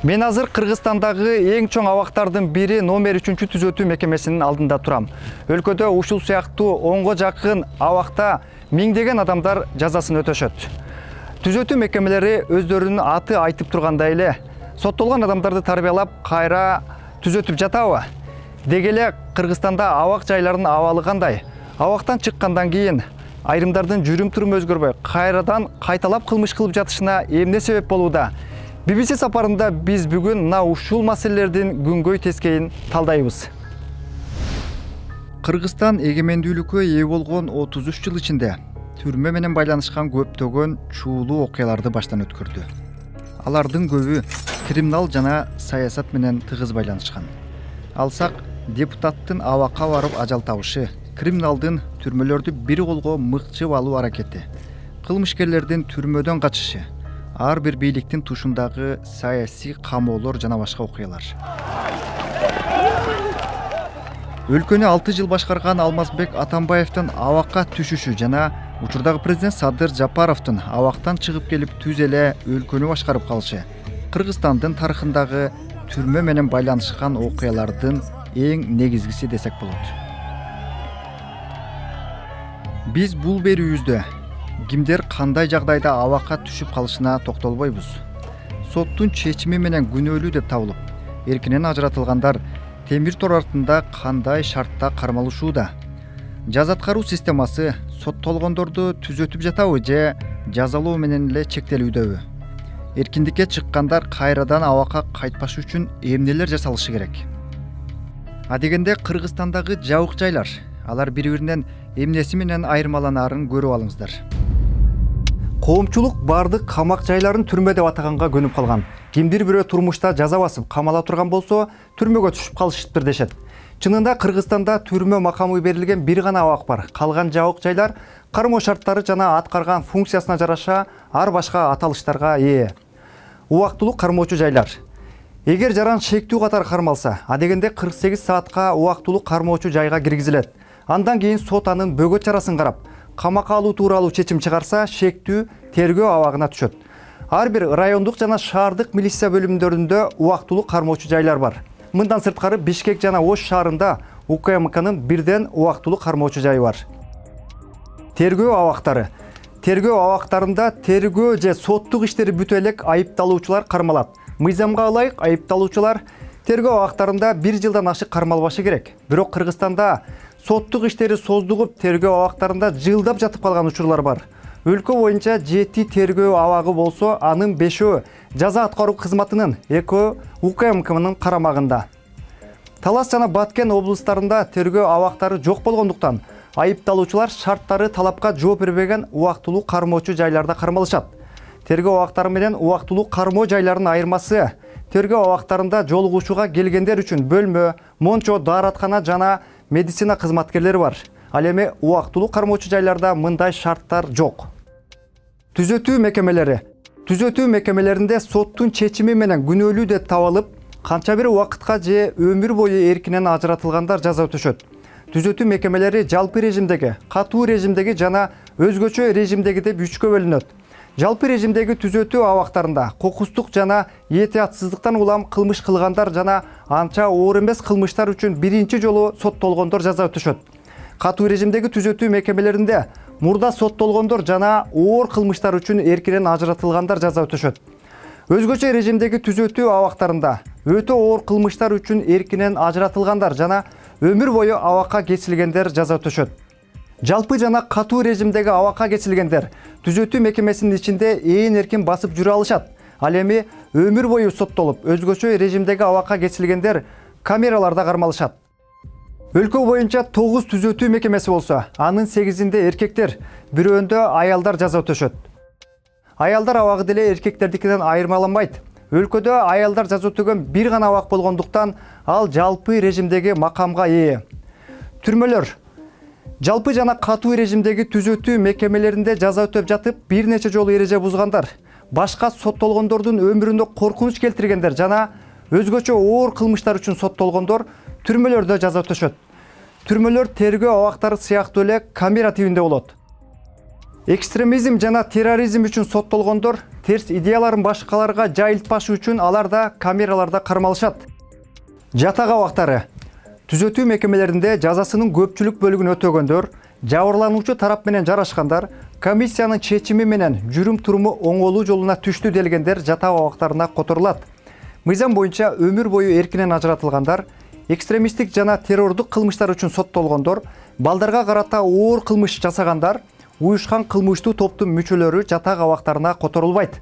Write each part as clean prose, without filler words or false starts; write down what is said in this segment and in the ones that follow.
Мен азыр Кыргызстандагы эң чоң абактардын бири номер 3 түзөтүү мекемесинин алдында турам. Өлкөдө ушул сыяктуу 10го жакын абакта миңдеген адамдар жазасын өтөшөт. Түзөтүү мекемелери өздөрүнүн аты айтып тургандай эле соттолгон адамдарды тарбиялап кайра түзөтүп жатабы? Деги эле Кыргызстанда абак жайлардын абалы кандай? Абактан чыккандан кийин айрымдардын жүрүм-туруму өзгөрбөй, кайрадан кайталап кылмыш кылып жатышына эмне себеп болууда? BBC сапарында биз бүгүн мына ушул маселелердин күнгөй тескейин талдайбыз. Кыргызстан эгемендүүлүккө ээ болгон 33 жыл ичинде түрмө менен байланышкан көптөгөн чуулуу окуяларды баштан өткөрдү. Алардын көбү криминал жана саясат менен тыгыз байланышкан. Алсак, депутаттын абакка барып ажал табышы, криминалдын түрмөлөрдү бир колго мыкчып алуу аракети, кылмышкерлердин түрмөдөн качышы, ар бир бийликтин тушундагы саясий камоолор жана башка окуялар. Өлкөнү 6 жыл башкарган Алмазбек Атамбаевдин абакка түшүшү жана учурдагы президент Садыр Жапаровдун абактан чыгып келип түз эле өлкөнү башкарып калышы Кыргызстандын тарыхындагы түрмө менен байланышкан окуялардын эң негизгиси десек болот. Биз бул берүүбүздө кимдер кандай жагдайда абакка түшүп калышына токтолбойбуз. Соттун чечими менен күнөөлүү деп табылып, эркинен ажыратылгандар темир тор артында кандай шартта кармалышууда? Жаза аткаруу системасы соттолгондорду түзөтүп жатабы же жазалоо менен эле чектелүүдөбү? Эркиндикке чыккандар кайрадан абакка кайтпаш үчүн эмнелер жасалышы керек? Адегенде Кыргызстандагы жабык жайлар, алар бири-биринен эмнеси менен айырмаланаарын көрүп алыңыздар. Коомчулук бардык камак жайларын түрмө деп атаганга көнүп калган. Кимдир бирөө турмушта жаза басып камала турган болсо, түрмөгө түшүп калышыптыр дешет. Чынында Кыргызстанда түрмө макамы берилген бир гана абак бар. Калган жабык жайлар кармоо шарттары жана аткарган функциясына жараша ар башка аталыштарга ээ. Убактылуу кармоочу жайлар. Эгер жаран шектүү катары кармалса, адегенде 48 саатка убактылуу кармоочу жайга киргизилет. Андан кийин сот анын бөгөт чарасын карап, камакка алуу тууралуу чечим чыгарса, шектүү тергөө абагына түшөт. Ар бир райондук жана шаардык милиция бөлүмдөрүндө убактылуу кармоочу жайлар бар. Мындан сырткары Бишкек жана Ош шаарында УКМКнын бирден убактылуу кармоочу жайы бар. Тергөө абактары. Тергөө абактарында тергөө же соттук иштери бүтө элек айыпталуучулар кармалат. Мыйзамга ылайык айыпталуучулар тергөө абактарында 1 жылдан ашык кармалбашы керек. Бирок Кыргызстанда соттук иштери создугуп тергөө абактарында жылдап жатып калган учурлар бар. Өлкө боюнча 7 тергөө абагы болсо, анын 5-өө жаза аткаруу кызматынын, 2-өө УКМКнын карамагында. Талас жана Баткен облустарында тергөө абактары жок болгондуктан айыпталуучулар шарттары талапка жооп бербеген убактылуу кармоочу жайларда кармалышат. Тергөө абактары менен убактылуу кармоо жайларынын айырмасы: тергөө абактарында жолугуучуга келгендер үчүн бөлмө, мончо, даараткана жана медицина кызматкерлери бар. Ал эми убактылуу кармоочу жайларда мындай шарттар жок. Түзөтүү мекемелери. Түзөтүү мекемелеринде соттун чечими менен күнөөлүү деп табылып, канча бир убакытка же өмүр бою эркинен ажыратылгандар жаза өтөшөт. Түзөтүү мекемелери жалпы режимдеги, катуу режимдеги жана өзгөчө режимдеги деп 3кө бөлүнөт. Жалпы режимдеги түзөтүү абактарында кокустук жана этиятсыздыктан улам кылмыш кылгандар жана анча оор эмес кылмыштар үчүн биринчи жолу соттолгондор жаза өтөшөт. Катуу режимдеги түзөтүү мекемелеринде мурда соттолгондор жана оор кылмыштар үчүн эркинен ажыратылгандар жаза өтөшөт. Өзгөчө режимдеги түзөтүү абактарында өтө оор кылмыштар үчүн эркинен ажыратылгандар жана өмүр бою абакка кесилгендер жаза өтөшөт. Жалпы жана катуу режимдеги абакка кесилгендер түзөтүү мекемесинин ичинде ээн эркин басып жүрө алышат. Ал эми өмүр бою соттолуп, өзгөчө режимдеги абакка кесилгендер камераларда кармалышат. Өлкө боюнча 9 түзөтүү мекемеси болсо, анын 8-inde эркектер, бирөөндө аялдар жаза өтөшөт. Аялдар абагы деле эркектердикинен айырмаланбайт. Өлкөдө аялдар жаза өтөгөн бир гана абак болгондуктан ал жалпы режимдеги макамга ээ. Түрмөлөр. Жалпы жана катуу режимдеги түзөтүү мекемелеринде жаза өтөп жатып, бир нече жолу эреже бузгандар, башка соттолгондордун өмүрүндө коркунуч келтиргендер жана өзгөчө оор кылмыштар үчүн соттолгондор түрмөлөрдө жаза өтөшөт. Түрмөлөр тергөө абактары сыяктуу эле камера тибинде болот. Экстремизм жана терроризм үчүн соттолгондор терс идеяларын башкаларга жайылтпашы үчүн алар да камераларда кармалышат. Жатак абактары. Түзөтүү мекемелеринде жазасынын көпчүлүк бөлүгүн өтөгөндөр, жабырлануучу тарап менен жарашкандар, комиссиянын чечими менен жүрүм туруму оңолуу жолуна түштү делгендер жатак абактарына которулат. Мыйзам боюнча өмүр бою эркинен ажыратылгандар, экстремисттик жана террордук кылмыштар үчүн соттолгондор, балдарга карата оор кылмыш жасагандар, уюшкан кылмыштуу топтун мүчөлөрү жатак абактарына которулбайт.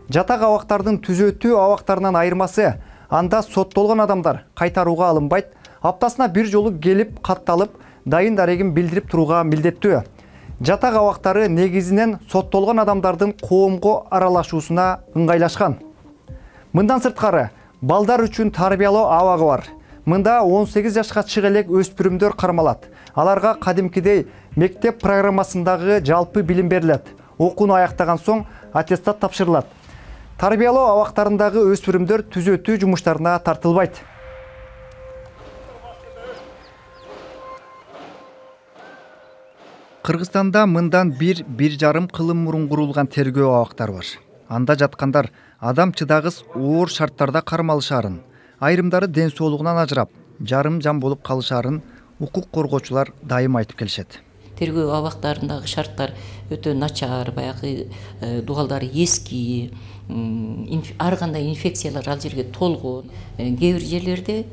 Жатак абактардын түзөтүү абактарынан айырмасы, анда соттолгон адамдар кайтарууга алынбайт, аптасына бир жолу келип катталып, дайын дарегин билдирип турууга милдеттүү. Жатак абактары негизинен соттолгон адамдардын коомго аралашуусуна ыңгайлашкан. Мындан сырткары, балдар үчүн тарбиялоо абагы бар. Мында 18 жашка чыга элек өспүрүмдөр кармалат. Аларга кадимкидей мектеп программасындагы жалпы билим берилет. Окууну аяктаган соң аттестат тапшырылат. Тарбиялоо абактарындагы өспүрүмдөр түзөтүү жумуштарына тартылбайт. Кыргызстанда мындан 1,5 кылым мурун курулган тергөө абактары бар. Анда жаткандар адам чыдагыс оор шарттарда кармалышаарын, айрымдары ден соолугунан ажырап, жарым жан болуп калышаарын укук коргоочулар дайым айтып келишет. Тергөө абактарындагы шарттар өтө начар, баягы дубалдары эски, ар кандай инфекциялар ал жерге толгон. Кээ бир жерлерде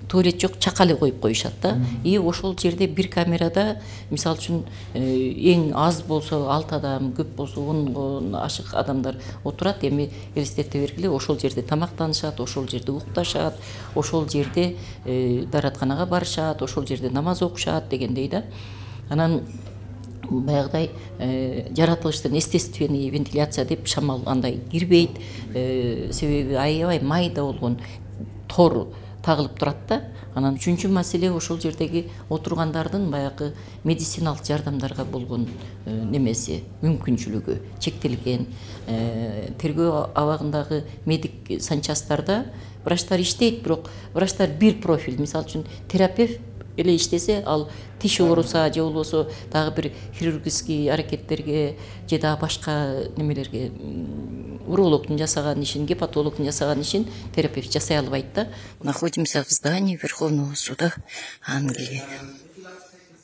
туалет жок, чакалы коюп коюшат да. И ошол жерде бир камерада, мисалы үчүн, эң аз болсо 6 адам, көп болсо 10го ашык адамдар отурат. Эми элестете бергиле, ошол жерде тамактанышат, ошол жерде укташат, ошол жерде дааратканага барышат, ошол жерде намаз окушат дегендей да. Анан баягыдай жаратылыштын естественный вентиляция деп шамал андай кирбейт. Себеби аябай майда болгон тор тагылып турат да. Анан үчүнчү маселе ошол жердеги отургандардын баягы медициналык жардамдарга болгон немеси, мүмкүнчүлүгү чектелген. Тергөө абагындагы медик санчастарда врачтар иштейт, бирок врачтар бир профиль, мисалы үчүн терапевт эле иштесе, ал тиш ооруса же болбосо дагы бир хирургический аракеттерге же дагы башка немелерге урологдун жасаган ишин, гепатологдун жасаган ишин терапевт жасай албайт да. Находимся в здании Верховного суда Англии.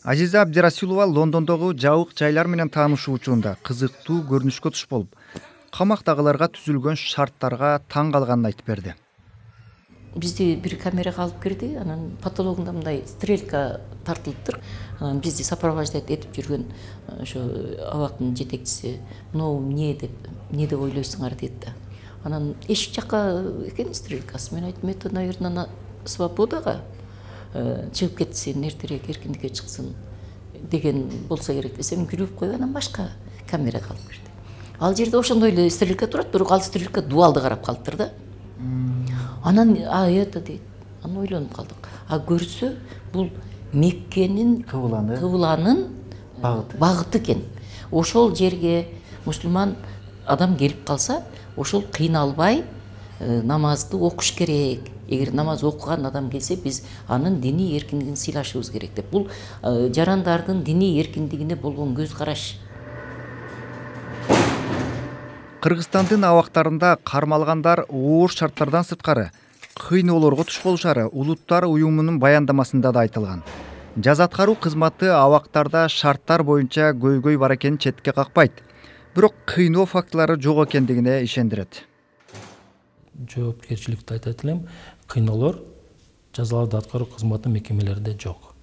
Азиза Абдирасилова Лондондогу жабык жайлар менен таанышуу учурунда кызыктуу көрүнүшкө туш болуп, камактагыларга түзүлгөн шарттарга таң калганын айтып берди. Бизди бир камерага алып кирди, анан потологунда мындай стрелка тартылыптыр. Анан бизди сопровождать этип жүргөн ошо абактын жетекчиси, "Но эмне деп ойлойсуңар" дейт да. Анан эшик жакка экен стрелкасы. Мен айттым, "Это, наверное, на свободага чыгып кетсин, эртерээк эркиндикке чыксын" деген болсо керек десем, күлүп коюп анан башка камерага алып кирди. Ал жерде ошондой эле стрелка турат, бирок ал стрелка дуалды карап калыптыр да. Анан это дейт. Анан ойлонуп калдык. Көрсө бул Меккенин кыбланын багыты экен. Ошол жерге мусулман адам келип калса, ошол кыйналбай намазды окуш керек. Эгер намаз окуган адам келсе, биз анын диний эркиндигин сыйлашыбыз керек деп. Бул жарандардын диний эркиндигине болгон көз караш. Кыргызстандын абактарында кармалгандар оор шарттардан сырткары кыйноолорго туш болушары Улуттар уюмунун баяндамасында да айтылган. Жаза аткаруу кызматы абактарда шарттар боюнча көйгөй бар экенин четке какпайт. Бирок кыйноо фактылары жок экендигине ишендирет. Жоопкерчиликти айтат элем, кыйноолор жазаларды аткаруу кызматы мекемелеринде жок.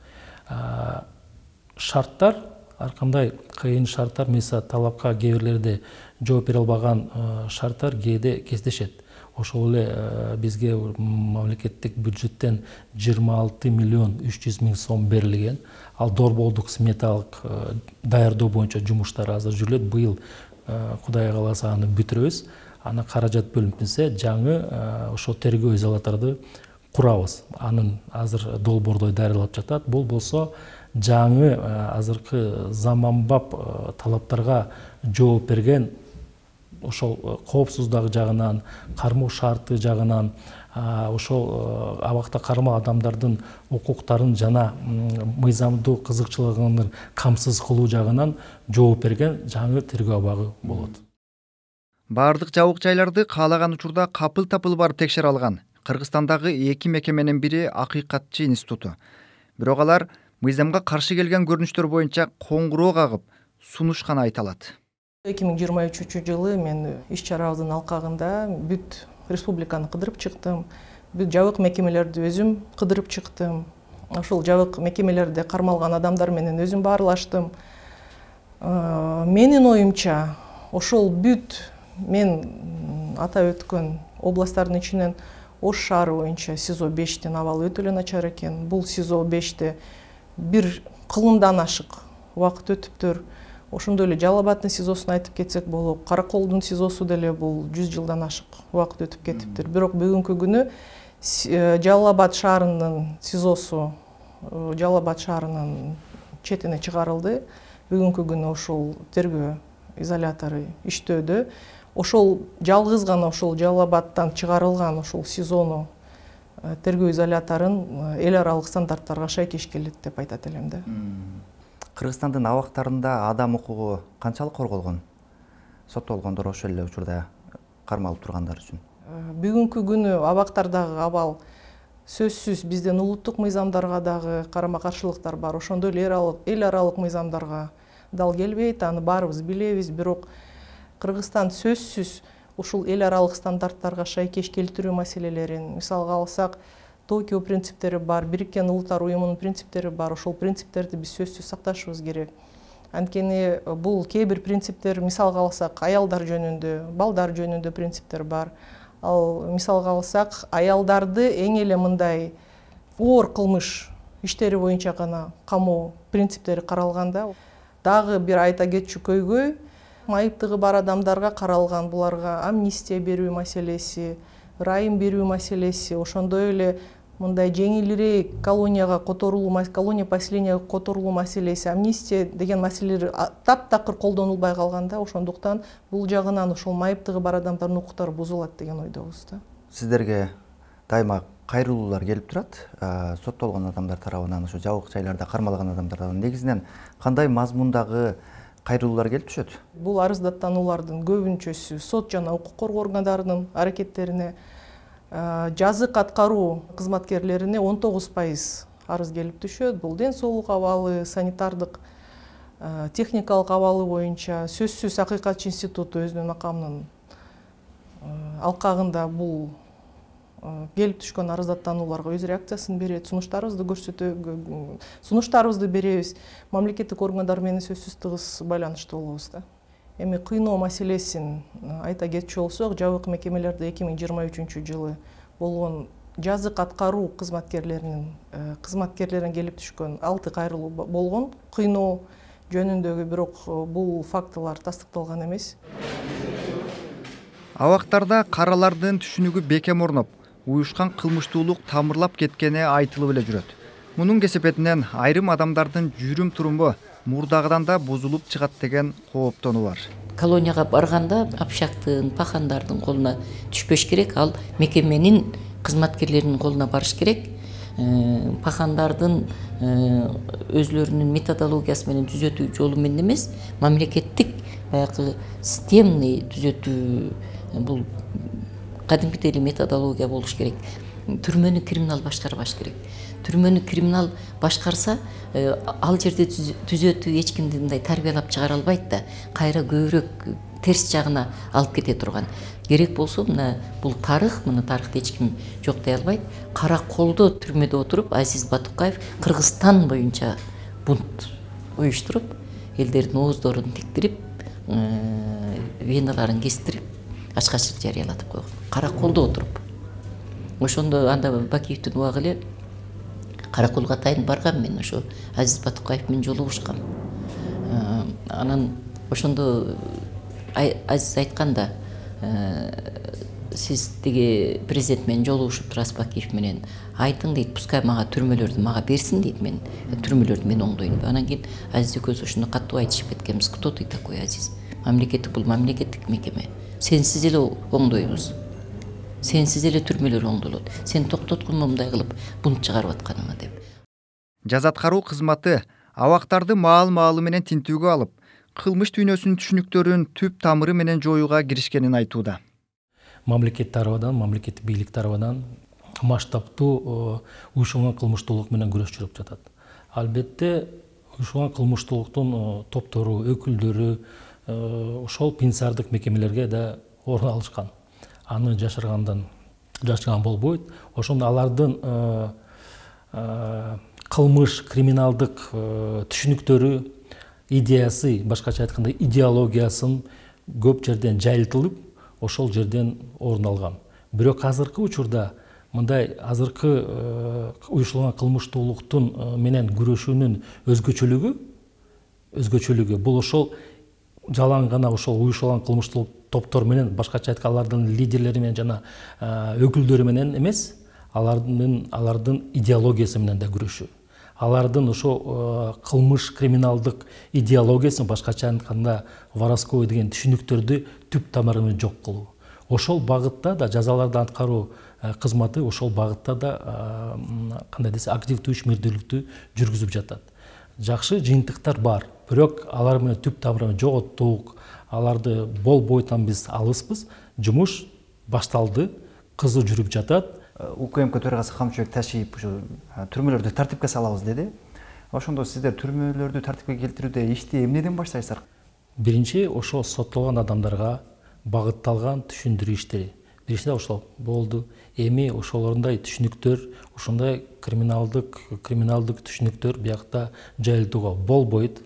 Шарттар, ар кандай кыйын шарттар, мисалы талапка кээ бирлерде жооп бере албаган шарттар кээде кездешет. Ошол эле бизге мамлекеттик бюджеттен 26 миллион 300 миң сом берилген. Ал дорболдук сметалык даярдоо боюнча жумуштар азыр жүрүлөт. Быйыл Кудай кааласа аны бүтүрөбүз. Аны каражат бөлүнүп кетсе, жаңы ошо тергөө изолаторду курабыз. Анын азыр долбоордой даярдалып жатат. Бул болсо жаңы азыркы заманбап талаптарга жооп берген ошол коопсуздук жагынан, кармоо шарты жагынан, ошол абакта кармоо адамдардын укуктарын жана мыйзамдуу кызыкчылыгын камсыз кылуу жагынан жооп берген жаңы тергөө абагы болот. Бардык жабык жайларды каалаган учурда капыл тапыл барып текшере алган Кыргызстандагы 2 мекеменин бири Акыйкатчы институту. Бирок алар мыйзамга каршы келген көрүнүштөр боюнча коңгуроо кагып сунушканы айталат. 2023 мен иш чарабыздын алкагында бүт республиканы кыдырып чыктым. Бүт жабык мекемелерди өзүм кыдырып чыктым. Ошол жабык мекемелерде кармалган адамдар менен өзүм баарлаштым. Менин оюмча, ошол бүт мен атап өткөн областтардын ичинен Ош шаары боюнча СИЗО 5тин абалы өтө эле начар экен. Бул СИЗО 5те бир кылымдан ашык убакыт өтүптүр. Ошондой эле Жалал Абаддын СИЗОсун айтып кетсек болот. Караколдун СИЗОсу деле бул 100 жылдан ашык убакыт өтүп кетиптир. Бирок бүгүнкү күнү Жалал Абад шаарынын СИЗОсу Жалал Абад шаарынын четине чыгарылды. Бүгүнкү күнү ошол тергөө изолятору иштөөдө. Ошол жалгыз гана ошол Жалал Абадтан чыгарылган ошол СИЗОну тергөө изоляторун эл аралык стандарттарга шайкеш келет деп айтат элем да. Кыргызстандын абактарында адам укугу канчалык корголгон? Соттолгондор ошол эле учурда кармалып тургандар үчүн. Бүгүнкү күнү абактардагы абал сөзсүз биздин улуттук мыйзамдарга дагы карама-каршылыктар бар. Ошондой эле эл аралык мыйзамдарга дал келбейт. Аны баарыбыз билебиз, бирок Кыргызстан сөзсүз ушул эл аралык стандарттарга шайкеш келтирүү маселелерин, мисалга алсак, Токио принциптери бар, Бириккен Улуттар уюмунун принциптери бар. Ошол принциптерди биз сөзсүз сакташыбыз керек. Анткени бул кээ бир принциптер, мисалга алсак, аялдар жөнүндө, балдар жөнүндө принциптер бар. Ал мисалга алсак, аялдарды эң эле мындай оор кылмыш иштери боюнча гана камоо принциптери каралганда, дагы бир айта кетчү көйгөй майыптыгы бар адамдарга каралган, буларга амнистия берүү маселеси, ырайым берүү маселеси, ошондой эле мындай жеңилирээк колонияга которулуу, колония поселенияга которулуу маселеси, амнистия деген маселелер таптакыр колдонулбай калганда, ошондуктан бул жагынан ошол майыптыгы бар адамдардын укуктары бузулат деген ойдобуз да. Сиздерге дайыма кайрылуулар келип турат, соттолгон адамдар тарабынан, ошо жабык жайларда кармалган адамдар тарабынан. Негизинен кандай мазмундагы кайрылуулар келип түшөт? Бул арыздаттануулардын көбүнчөсү сот жана укук коргоо органдарынын аракеттерине, жазык аткаруу кызматкерлерине 19% арыз келип түшөт. Бул ден соолук абалы, санитардык, техникалык абалы боюнча сөзсүз Акыйкатчы институту өзүнүн макамынын алкагында бул келип түшкөн арыздаттанууларга өз реакциясын берет, сунуштарыбызды беребиз. Мамлекеттик органдар менен сөзсүз тыгыз байланышта болобуз да. Эми кыйноо маселесин айта кетчү болсок, жабык мекемелерде 2023 жылы болгон жазык аткаруу кызматкерлеринин келип түшкөн 6 кайрылуу болгон кыйноо жөнүндөгү, бирок бул фактылар тастыкталган эмес. Абактарда каралардын түшүнүгү бекем орноп, уюшкан кылмыштуулук тамырлап кеткени айтылып эле жүрөт. Мунун кесепетинен айрым адамдардын жүрүм-туруму мурдагыдан да бузулуп чыгат деген кооптонуу бар. Колонияга барганда общактын, пахандардын колуна түшпөш керек, ал мекеменин кызматкерлеринин колуна барыш керек. Пахандардын өзлөрүнүн методологиясы менен түзөтүү жолу менен эмес, мамлекеттик баягы системный түзөтүү, бул кадимкидей эле методология болуш керек. Түрмөнү криминал башкарбаш керек. Түрмөнү криминал башкарса, ал жерде түзөтүү эч кимди мындай тарбиялап чыгара албайт да, кайра көбүрөөк терс жагына алып кете турган. Керек болсо, мына бул тарых, мына тарыхты эч ким жоктой албайт. Караколдо түрмөдө отуруп Азиз Батукаев Кыргызстан боюнча бунт уюштуруп, элдердин ооздорун тиктирип, веналарын кестирип, ачкачтык жарыялатып койгон. Караколдо отуруп. Ошондо анда Бакиевдин убагы эле Караколго атайын баргам мен, ошо Азиз Батукаев менен жолугушкам. Анан ошондо Азиз айтканда, сиз тиги президент менен жолугушуп турасыз Бакиев менен, айтың дейт, пускай мага түрмөлөрдү мага берсин дейт, мен түрмөлөрдү мен оңдойм. Анан кийин Азиз экөөбүз ошондо катуу айтышып кеткенбиз. Кто ты такой, Азиз? бул мамлекеттик мекеме. Сенсиз эле оңдойбуз. Сенсиз эле түрмөлөр оңдолот. Сен токтоткун мындай кылып бунт чыгарып атканыңа деп. Жаза аткаруу кызматы абактарды маал-маалы менен тинтүүгө алып, кылмыш дүйнөсүнүн түшүнүктөрүн түп тамыры менен жоюуга киришкенин айтууда. Мамлекет тарабынан, мамлекеттик бийлик тарабынан масштабтуу уюшулган кылмыштуулук менен күрөш жүрүп жатат. Албетте уюшулган кылмыштуулуктун топтору, өкүлдөрү ошол пенсиардык мекемелерге да орун алышкан. Аны жашырган болбойт. Ошондо алардын кылмыш, криминалдык түшүнүктөрү, идеясы, башкача айтканда идеологиясын көп жерден жайылтылып, ошол жерден орун алган. Бирок азыркы учурда мындай азыркы уюшулган кылмыштуулуктун менен күрөшүүнүн өзгөчөлүгү бул ошол жалаң гана ошол уюшулган кылмыштуулук топтор менен, башкача айтканда алардын лидерлери менен жана өкүлдөрү менен эмес, алардын идеологиясы менен да күрөшүү. Алардын ошо кылмыш, криминалдык идеологиясын, башкача айтканда воровской деген түшүнүктөрдү түп тамыры менен жок кылуу. Ошол багытта да жазаларды аткаруу кызматы ошол багытта да кандай десе активдүү ишмердүүлүктү жүргүзүп жатат. Жакшы жыйынтыктар бар, бирок алар менен түп тамырын жоготтук, аларды болбойтан биз алыспыз. Жумуш башталды, кызуу жүрүп жатат. УКМК төрагасы Камчыбек Ташиев түрмөлөрдү тартипке салабыз деди. Ошондо сиздер түрмөлөрдү тартипке келтирүүдө ишти эмнеден баштайсыздар? Биринчи ошо соттолгон адамдарга багытталган түшүндүрүү иштери. Биринчиден ошол болду. Эми ошолорундай түшүнүктөр, ошондой криминалдык түшүнүктөр биякта жайылтууга болбойт.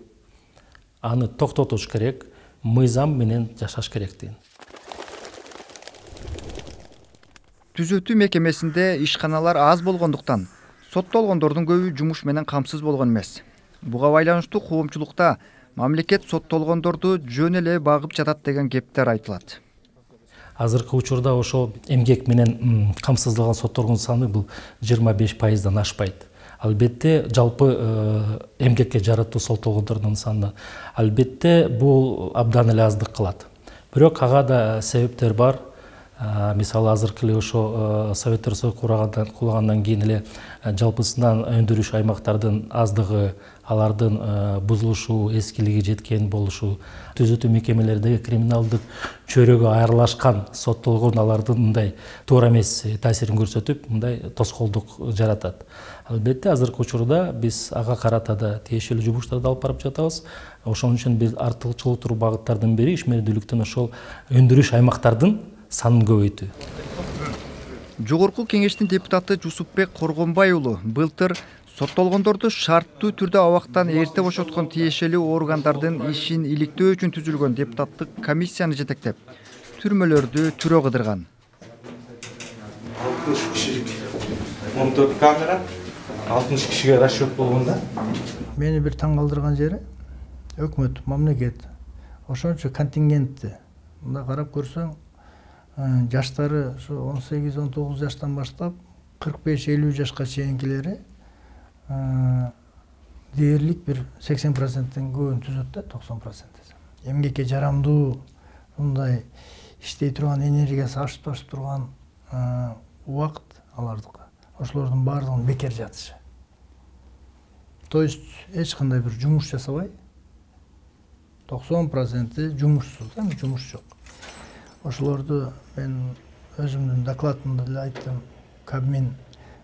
Аны токтотуш керек, мыйзам менен жашаш керек деген. Түзөтүү мекемесинде ишканалар аз болгондуктан соттолгондордун көбү жумуш менен камсыз болгон эмес. Буга байланыштуу коомчулукта мамлекет соттолгондорду жөн эле багып жатат деген кептер айтылат. Азыркы учурда ошо эмгек менен камсыздалган соттордун саны бул 25%дан ашпайт. Албетте жалпы эмгекке жараттуу соттолгондордун саны албетте бул абдан эле аздык кылат. Бирок ага да себептер бар. Мисалы азыркы эле ошо Советтер Союзу кулагандан кийин эле жалпысынан өндүрүш аймактардын аздыгы, алардын бузулушу, эскилиги жеткен болушу, түзөтүү мекемелердеги криминалдык чөйрөгө айырылышкан соттолгон алардын мындай туура эмес таасирин көрсөтүп, мындай тоскоолдук жаратат. Албетте азыркы учурда биз ага карата да тиешелүү жумуштарды алып барып жатабыз. Ошон үчүн биз артыкчылыктуу багыттардын бири ишмердүүлүктүн ошол өндүрүш аймактардын санын көбөйтүү. Жогорку кеңештин депутаты Жусупбек Коргонбай уулу былтыр соттолгондорду шарттуу түрдө абактан эрте бошоткон тиешелүү органдардын ишин иликтөө үчүн түзүлгөн депутаттык комиссияны жетектеп, түрмөлөрдү түрө кыдырган. 60 кишилик 14 камера, 60 кишиге расчет болгонда. Мени бир таң калтырган жери өкмөт, мамлекет ошончо контингентти мында карап көрсөң, жаштары ошо 18-19 жаштан баштап 45-50 жашка чейинкилери дээрлик бир 80%-тен көбүн түзөт да, 90%. Эмгекке жарамдуу мындай иштей турган, энергиясы ашып турган убакыт алардыкы. Ошолордун баардыгын бекер жатышы. То есть эч кандай бир жумуш жасабай 90% жумушсуз, жумуш жок. Ошолорду мен өзүмдүн докладымда эле айттым. Кабмин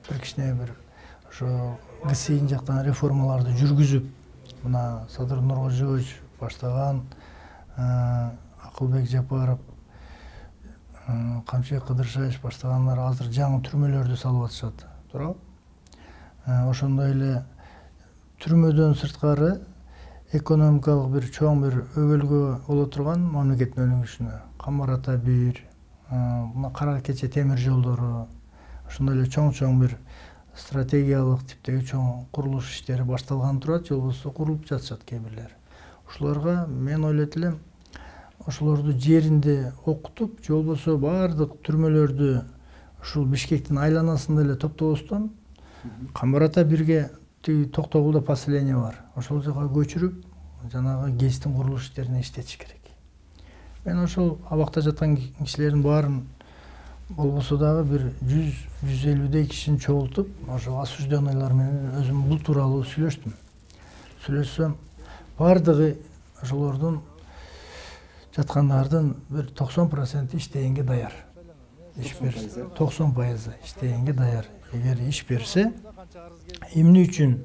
бир кичине бир ошо ГСИ жактан реформаларды жүргүзүп, мына Садыр Нуркожоевич баштаган, Акылбек Жапаров, Камчыбек Кыдыршаевич баштагандар азыр жаңы түрмөлөрдү салып атышат. Туурабы? Ошондой эле түрмөдөн сырткары экономикалык бир чоң бир өбөлгө боло турган мамлекеттин өнүгүшүнө Камар Ата 1, мына Кара Кече темир жолдору, ошондой эле чоң бир стратегиялык типтеги чоң курулуш иштери башталган турат, же болбосо курулуп жатышат кээ бирлери. Ошолорго мен ойлойт элем, ошолорду жеринде окутуп, же болбосо баардык түрмөлөрдү ушул Бишкектин айланасында эле топтобостон, Камар Ата 1ге тиги Токтогулда поселение бар. Ошол жака көчүрүп, жанагы ГЭСтин курулуш иштерине иштетиш керек. Мен ошол абакта жаткан кишилердин баарын болбосо дагы бир 100-150 кишини чогултуп, ошо осужденныйлар менен өзүм бул тууралуу сүйлөшсөм, баардыгы ошолордун жаткандардын бир 90% иштегенге даяр. Иш берсе, 90% иштегенге даяр. Эгер иш берсе, эмне үчүн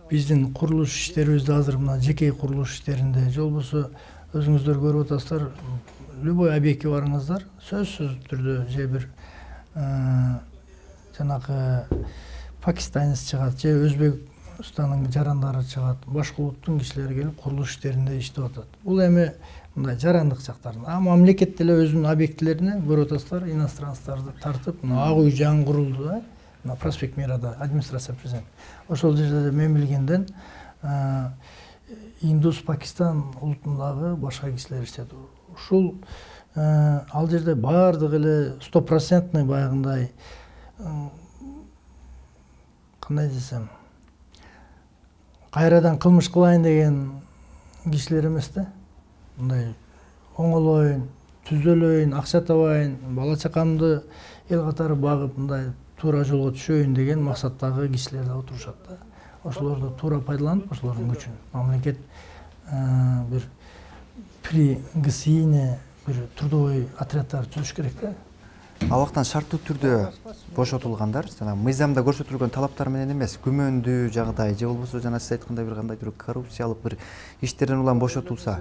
биздин курулуш иштерибизде азыр мына жеке курулуш иштеринде же болбосо өзүңүздөр көрүп атасыздар, любой объектке барыңыздар, сөзсүз түрдө же бир жанагы пакистанец чыгат, же Өзбекстандын жарандары чыгат, башка улуттун кишилери келип курулуш иштеринде иштеп атат. Бул эми мындай жарандык жактарын. А мамлекет деле өзүнүн объектилерине көрүп атасыздар, иностранцтарды тартып, мына Ак үй жаңы курулду да, мына Проспект Мирада администрация президент. Ошол жерде мен билгенден Индус, Пакистан улутундагы башка кишилер иштейт. Ушул ал жерде баардыгы эле 100% баягындай кандай десем, кайрадан кылмыш кылайын деген кишилер эмес да. Мындай оңолоюн, түзөлөйүн, акча табайын, бала чакамды эл катары багып, мындай туура жолго түшөйүн деген максаттагы кишилер да отурушат да. Ошолорду туура пайдаланып, ошолордун күчүн мамлекет бир при ГСИне бир трудовой отряддар түзүш керек да. Абактан шарттуу түрдө бошотулгандар жана мыйзамда көрсөтүлгөн талаптар менен эмес, күмөндүү жагдай же болбосо жана сиз айткандай бир кандайдыр коррупциялык бир иштерден улам бошотулса,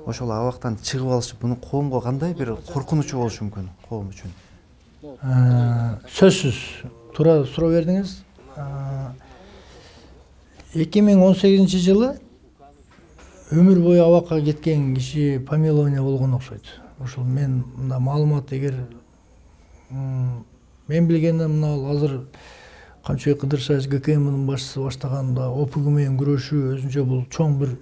ошол абактан чыгып алышып, мунун коомго кандай бир коркунучу болушу мүмкүн, коом үчүн? Сөзсүз туура суроо бердиңиз. 2018 жылы өмүр бою абакка кеткен киши помилование болгон окшойт. Ошол мен мында маалымат, эгер мен билгенден мына азыр Камчыбек Кыдыршевич ГКМдин башчысы баштаганда ОПГ менен күрөшүү өзүнчө бул чоң бир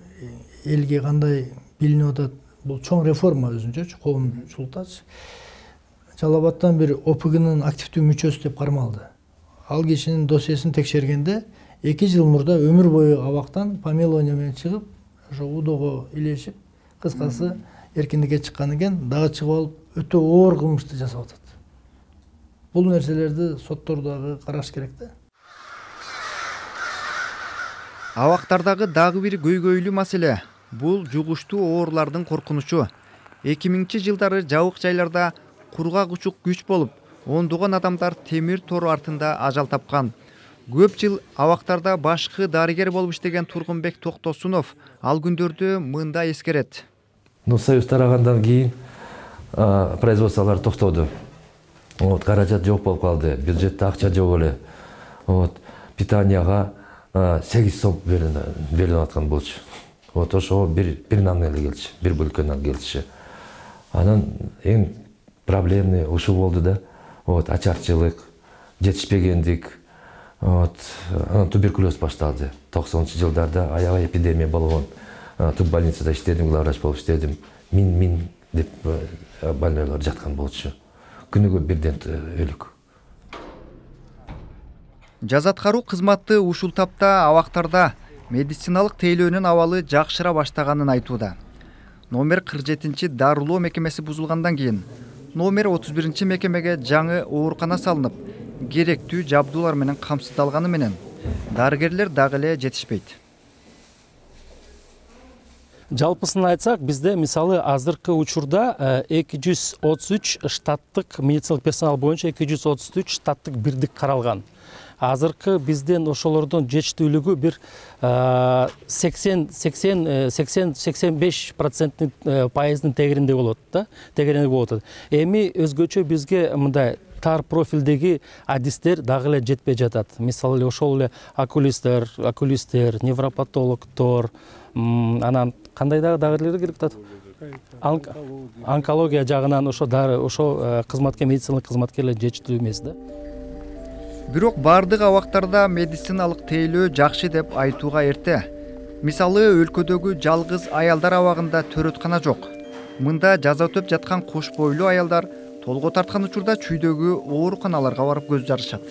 элге кандай билинип атат. Бул чоң реформа өзүнчөчү, коомчулуктачы. Жалал Абадтан бир ОПГнын активдүү мүчөсү деп кармалды. Ал кишинин досьесин текшергенде 2 жыл мурда өмүр бою абактан помилование менен чыгып, ошо УДОго илешип, кыскасы эркиндикке чыккан экен, дагы чыгып алып өтө оор кылмышты жасап атат. Бул нерселерди соттор дагы караш керек да. Абактардагы дагы бир көйгөйлүү маселе бул жугуштуу оорлардын коркунучу. 2000-жылдары жабык жайларда кургак учук күч болуп, ондогон адамдар темир тор артында ажал тапкан. Көп жыл абактарда башкы дарыгер болуп иштеген Тургунбек Токтосунов ал күндөрдү мында эскерет. Союз тарагандан кийин производстволор токтоду. Каражат жок болуп калды, бюджетте акча жок эле. Питанияга 8 сом берилип аткан болчу. Ошого бир нан эле келчү, бир бөлкө нан келчү. Анан эң проблемный ушул болду да. Ачарчылык, жетишпегендик, туберкулез башталды. 90-жылдарда аябай эпидемия болгон. Туббольницада иштедим, главврач болуп иштедим. Мин деп больнойлор жаткан болчу. Күнүгө бирден өлүк. Жазаткаруу кызматы ушул тапта абактарда медициналык тейлөөнүн абалы жакшыра баштаганын айтууда. Номер 47 дарылоо мекемеси бузулгандан кийин номер 31 мекемеге жаңы оорукана салынып, керектүү жабдуулар менен камсыздалганы менен дарыгерлер дагы эле жетишпейт. Жалпысын айтсак, бизде мисалы азыркы учурда 233 штаттык медициналык персонал боюнча 233 штаттык бирдик каралган. Азыркы бизден ошолордун жетиштүүлүгү бир 80-85% пайыздын тегеринде болот да, тегеринде болот. Эми өзгөчө бизге мындай тар профилдеги адистер дагы эле жетпей жатат. Мисалы ошол эле окулисттер, невропатологдор, анан кандай дагы керек атат? Онкология жагынан ошо кызматкер, медициналык кызматкерлер жетиштүү эмес да. Бирок бардык абактарда медициналык тейлөө жакшы деп айтууга эрте. Мисалы өлкөдөгү жалгыз аялдар абагында төрөткана жок. Мында жаза өтөп жаткан кош бойлуу аялдар толго тарткан учурда чүйдөгү ооруканаларга барып көз жарышат.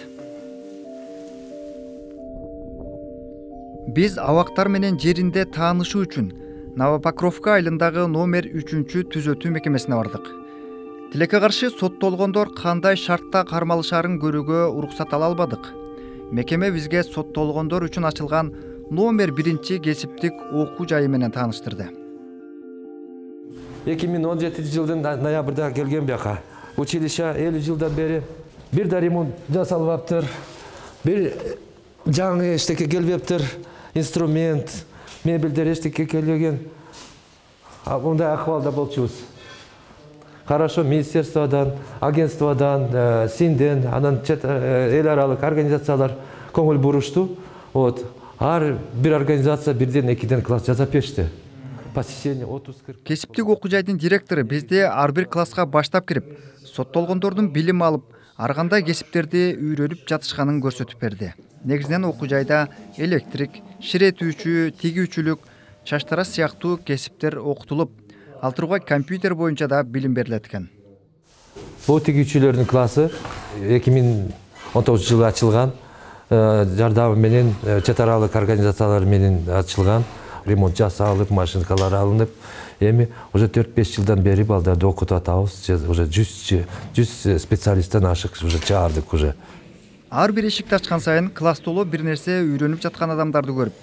Биз абактар менен жеринде таанышуу үчүн Новопокровка айылындагы номер 3 түзөтүү мекемесине бардык. Тилекке каршы соттолгондор кандай шартта кармалышарын көрүүгө уруксат ала албадык. Мекеме бизге соттолгондор үчүн ачылган номер 1 кесиптик окуу жайы менен тааныштырды. 2017 жылдын ноябрда келген бияка. Училище 50 жылдан бери бир да ремонт жасалбаптыр. Бир жаңы эчтеке келбептир. Инструмент, мебелдер эчтеке келбеген. Мындай акыбалда болчубуз. Хорошо, министерстводан, агентстводан, СИНден, анан эл аралык организациялар көңүл бурушту. Ар бир организация бирден экиден класс жасап беришти. Посещение 30-40. Кесиптик окуу жайдын директору бизде ар бир класска баштап кирип, соттолгондордун билим алып, ар кандай кесиптерди үйрөнүп жатышканын көрсөтүп берди. Негизинен окуу жайда электрик, ширетүүчү, тигүүчүлүк, чачтарас сыяктуу кесиптер окутулуп, ал тургай компьютер боюнча да билим берилет экен. Бул тигүүчүлөрдүн классы 2019 жылы ачылган. Жардамы менен чет аралык организациялар менен ачылган. Ремонт жасалып, машинкалар алынып, эми уже 4-5 жылдан бери балдарды окутуп атабыз. Уже 100 специалисттен ашык уже чыгардык уже. Ар бир эшикти ачкан сайын класстоло бир нерсе үйрөнүп жаткан адамдарды көрүп,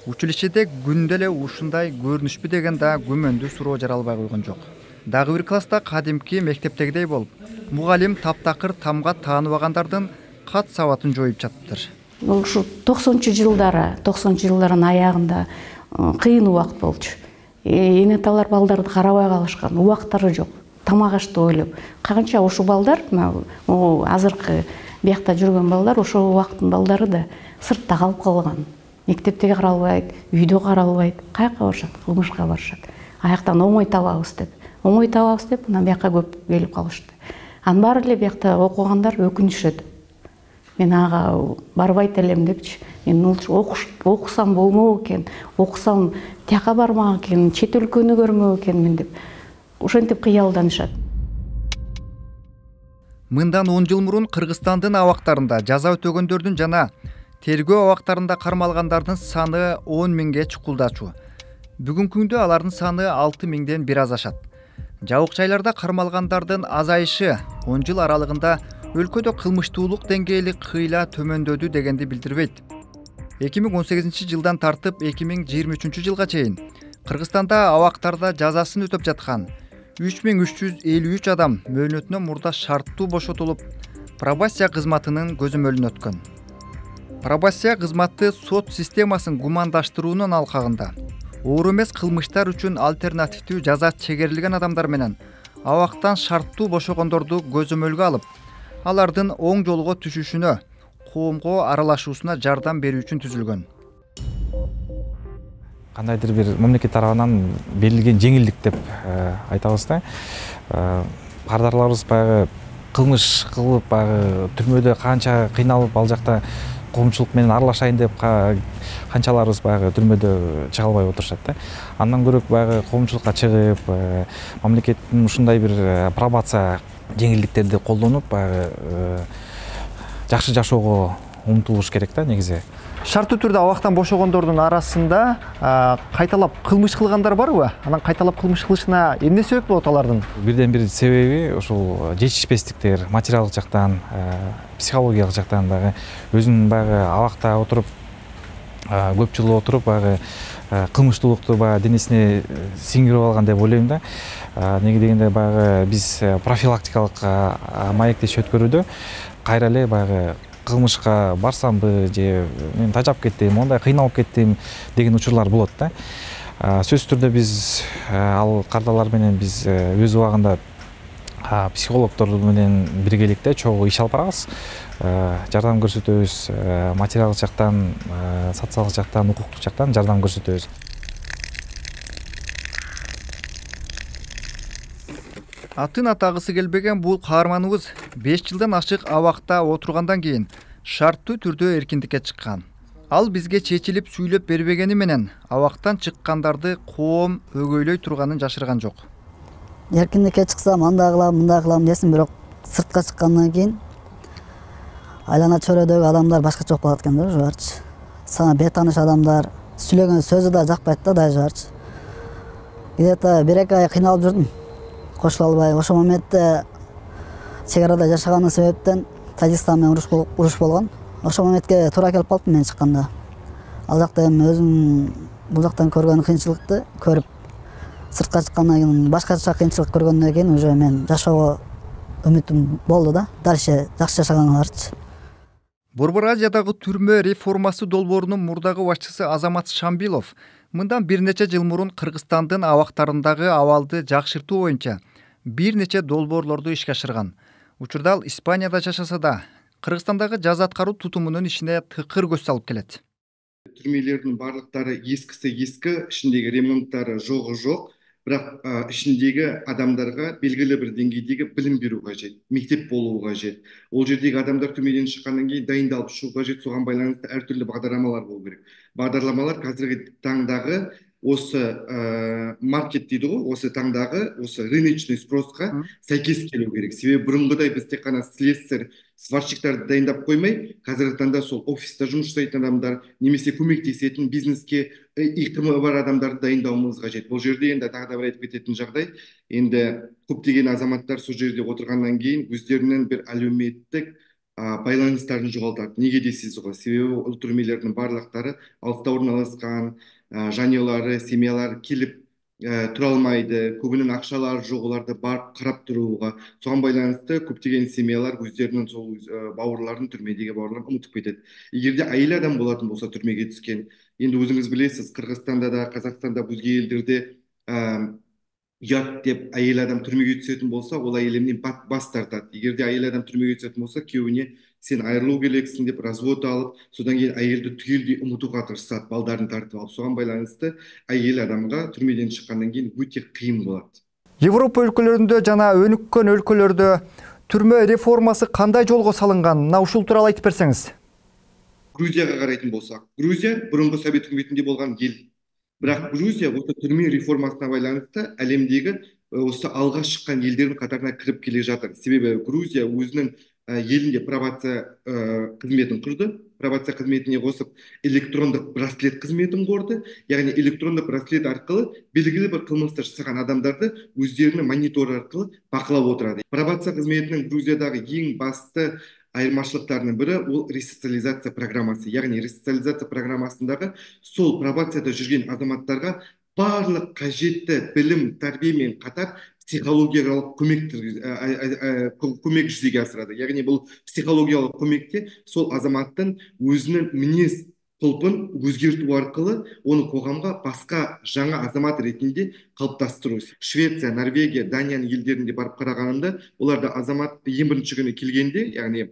училищеде күндө эле ушундай көрүнүшпү деген да күмөндүү суроо жаралбай койгон жок. Дагы бир класста кадимки мектептегидей болуп, мугалим таптакыр тамга тааныбагандардын кат сабатын жоюп жатыптыр. Бул ушу 90-жылдардын аягында кыйын убакыт болчу. Эне аталар балдарды карабай калышкан, убактары жок. Тамак ашты ойлоп. Канча ушу балдар, азыркы биякта жүргөн балдар, ошол убакыттын балдары да сыртта калып калган. Мектепте каралбайт, үйдө каралбайт. Каяка барышат? Кылмышка барышат. Аяктан оңой табабыз деп, анан бияка көп келип калышты. Анын баары эле биякта окугандар өкүнүшөт. Мен ага барбайт элем депчи. Мен окусам болмок экен, окусам тияка бармак экен, чет өлкөнү көрмөк экенмин деп. Ошентип кыялданышат. Мындан 10 жыл мурун Кыргызстандын абактарында жаза өтөгөндөрдүн жана тергөө абактарында кармалгандардын саны 10 миңге чукулдачу. Бүгүнкү күндө алардын саны 6 миңден бир аз ашат. Жабык жайларда кармалгандардын азайышы 10 жыл аралыгында өлкөдө кылмыштуулук деңгээли кыйла төмөндөдү дегенди билдирбейт. 2018 жылдан тартып 2023 жылга чейин Кыргызстанда абактарда жазасын өтөп жаткан 3353 адам мөөнөтүнөн мурда шарттуу бошотулуп, пробация кызматынын көзөмөлүнө өткөн. Пробация кызматы сот системасын гумандаштыруунун алкагында оор эмес кылмыштар үчүн альтернативдүү жаза чегерилген адамдар менен абактан шарттуу бошогондорду көзөмөлгө алып, алардын оң жолго түшүшүнө, коомго аралашуусуна жардам берүү үчүн түзүлгөн. Кандайдыр бир мамлекет тарабынан берилген жеңилдик деп айтабыз да. Кардарларыбыз баягы кылмыш кылып, баягы түрмөдө канча кыйналып, ал жакта коомчулук менен аралашайын деп канчаларыбыз баягы түрмөдө чыга албай отурушат да. Андан көрөк баягы коомчулукка чыгып, мамлекеттин ушундай бир пробация жеңилдиктерди колдонуп, баягы жакшы жашоого умтулуш керек да негизи. Шарттуу түрдө абактан бошогондордун арасында кайталап кылмыш кылгандар барбы? Анан кайталап кылмыш кылышына эмне себеп болот алардын? Бирден бир себеби ушул жетишпестиктер, материалдык жактан, психологиялык жактан дагы өзүнүн баягы абакта отуруп, көп жыл отуруп, баягы кылмыштуулукту баягы денесине сиңирип алган деп ойлойм да. Неге дегенде баягы биз профилактикалык маектеш өткөрүүдө кайра эле баягы кылмышка барсамбы же мен тажап кеттим, мондай кыйналып кеттим деген учурлар болот да. Сөзсүз түрдө биз ал кардалар менен биз өз убагында психологдор менен биргеликте чогуу иш алып барабыз. Жардам көрсөтөбүз, материалдык жактан, социалдык жактан, укуктук жактан жардам көрсөтөбүз. Атын атагысы келбеген бул каарманыбыз 5 жылдан ашык абакта отургандан кийин шарттуу түрдө эркиндикке чыккан. Ал бизге чечилип сүйлөп бербегени менен абактан чыккандарды коом өгөйлөй турганын жашырган жок. Эркиндикке чыксам, андай кылам, мындай кылам десем, бирок сыртка чыккандан кийин айлана чөйрөдөгү адамдар башкача болуп калат экен да, уже барчы. Сага бейтааныш адамдар, сүйлөгөн сөзү да жакпайт да, дайжы барчы. где-то 1-2 ай кыйналып жүрдүм. Кошула албай. Ошол моментте чек арада жашаганы себептен Тажикстан менен уруш болгон. Ошол моментке туура келип калыптым мен чыкканда. Ал жакта эми өзүм бул жактан көргөн кыйынчылыкты көрүп, сыртка чыккандан кийин башкача кыйынчылык көргөндөн кийин уже мен жашоого үмүтүм болду да. Дальше жакшы жашаганга-каршы. Борбор Азиядагы түрмө реформасы долбоорунун мурдагы башчысы Азамат Шамбилов мындан бир нече жыл мурун Кыргызстандын абактарындагы абалды жакшыртуу боюнча бир нече долбоорлорду ишке ашырган. Учурда ал Испанияда жашаса да, Кыргызстандагы жаза аткаруу тутумунун ишине тыкыр көз салып келет. Түрмелердин барлыктары эскиси эски, ичиндеги ремонттары жок. Бирок ичиндеги адамдарга белгилүү бир деңгейдеги билим берүү кажет, мектеп болуу кажет. Ол жердеги адамдар түрмөдөн чыккандан кийин дайындалып чыгуу кажет, суга байланыштуу ар түрдүү багдарламалар болуу керек. Багдарламалар азыркы таңдагы осы маркет дейді ғой, осы таңдағы осы рыночный спросқа сәйкес келу керек. Себебі бұрынғыдай біз тек қана слесарь, сварщиктарды дайындап қоймай, қазіргі таңда сол офиста жұмыс жасайтын адамдар, немесе көмектесетін бизнеске икімі бар адамдарды дайындауымыз қажет. Бұл жерде енді тағы да бір айтып кететін жағдай, енді көптеген азаматтар сол жерде отырғаннан кейін өздерінің бір әлеуметтік байланыстарын жоғалтады. Неге дейсіз ғой? Себебі ол түрмелердің барлықтары алыста орналасқан, жанұялары, семьялары келіп тұра алмайды, көбінің ақшалары жоқ, оларды барып қарап тұруға. Соған байланысты көптеген семьялар өздерінің сол бауырларын, түрмедегі бауырларын ұмытып кетеді. Егерде әйел адам болатын болса түрмеге түскен, енді өзіңіз білесіз, Қырғызстанда да, Қазақстанда, өзге елдерде ұят деп әйел адам түрмеге түсетін болса, ол әйелінен бас тартады. Егерде әйел адам түрмеге түсетін болса, күйеуіне сен айырылу керексің деп развод алып, содан кейін әйелді түгелдей ұмытуға тырысады, балдарын тартып алып. Соған байланысты әйел адамға түрмеден шыққаннан кейін өте қиын болады. Европа өлкөлөрүндө жана өнүккөн өлкөлөрдө түрмө реформасы кандай жолго салынган? Мына ушул тууралуу айтып берсеңиз. Грузияга карайтын болсак, Грузия бұрынғы Совет үкіметінде болған ел. Бірақ Грузия осы түрме реформасына байланысты әлемдегі осы алға шыққан елдердің қатарына кіріп келе жатыр. Себебі Грузия өзінің елінде пробация қызметін құрды. Пробация қызметіне қосып электрондық браслет қызметін құрды. Яғни электрондық браслет арқылы белгілі бір қылмысты жасаған адамдарды өздерінің монитор арқылы бақылап отырады. Пробация қызметінің Грузиядағы ең басты айырмашылықтарының бірі ол ресоциализация программасы. Яғни ресоциализация программасындағы сол пробацияда жүрген азаматтарға барлық қажетті білім, тәрбиемен қатар психологиялық көмек жүзеге асырады. Яғни бұл психологиялық көмекте сол азаматтың өзінің мінез құлпын өзгерту арқылы оны қоғамға басқа жаңа азамат ретінде қалыптастыру. Швеция, Норвегия, Данияның елдерінде барып қарағанында, оларда азамат ең бірінші күні келгенде, яғни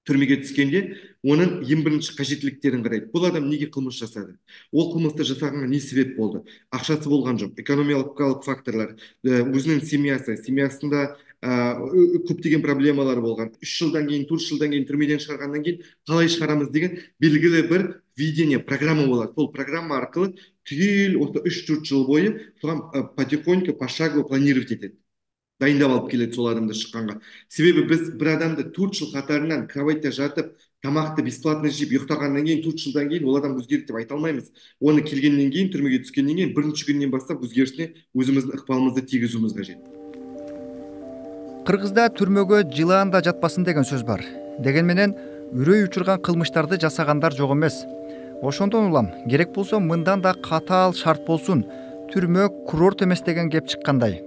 түрмеге түскенде, оның ең бірінші қажеттіліктерін қарайды. Бұл адам неге қылмыс жасады? Ол қылмысты жасағанға не себеп болды? Ақшасы болған жоқ, экономикалық факторлар, өзінің семьясында көптеген проблемалар болған. 3 жылдан кейін, 4 жылдан кейін түрмеден шығарғаннан кейін қалай шығарамыз деген белгілі бір видение, программа болады. Сол программа арқылы түгел осы 3-4 жыл бойы соған потихоньку, пошагово планировать етеді. Дайындап алып келеді сол адамды шыққанға. Себебі біз бір адамды 4 жыл қатарынан кроватьта жатып, тамақты бесплатно жеп ұйықтағаннан кейін 4 жылдан кейін ол адам өзгерді деп айта алмаймыз. Оны келгеннен кейін, түрмеге түскеннен кейін бірінші күннен бастап өзгерісіне өзіміздің ықпалымызды тигізуіміз қажет. Кыргызда түрмөгө жылаан да жатпасын деген сөз бар. Дегенменен үрөй учурган кылмыштарды жасагандар жок эмес. Ошондон улам, керек болсо мындан да катаал шарт болсун, түрмө курорт эмес деген кеп чыккандай.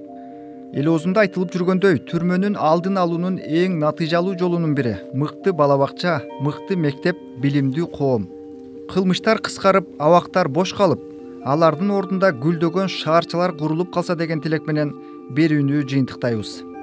Эл оозунда айтылып жүргөндөй, түрмөнүн алдын алуунун эң натыйжалуу жолунун бири мыкты бала бакча, мыкты мектеп, билимдүү коом. Кылмыштар кыскарып, абактар бош калып, алардын ордунда гүлдөгөн шаарчалар курулуп калса деген тилек менен берүүнү жыйынтыктайбыз.